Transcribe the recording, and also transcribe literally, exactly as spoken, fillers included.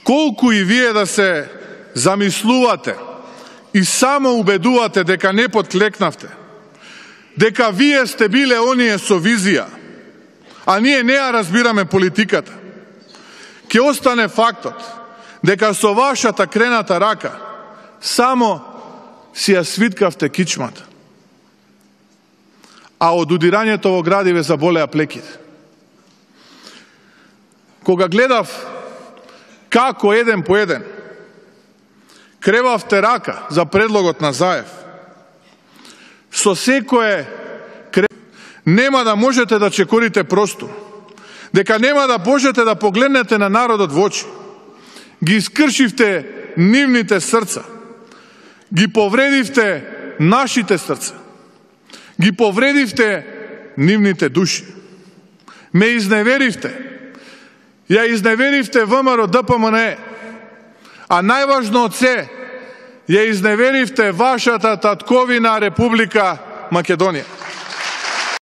колку и вие да се замислувате и само убедувате дека не подклекнавте, дека вие сте биле оние со визија, а ние не ја разбираме политиката, ќе остане фактот дека со вашата крената рака само си ја свиткавте кичмата, а од удирањето во градиве заболеа плеките. Кога гледав како еден по еден кревавте рака за предлогот на Заев, со секое крев... нема да можете да чекорите простор, дека нема да можете да погледнете на народот во очи, ги искршивте нивните срца, ги повредивте нашите срца, ги повредивте нивните души, ме изневеривте, ја изневеривте ВМРО ДПМНЕ, а најважно од се, ја изневеривте вашата татковина Република Македонија.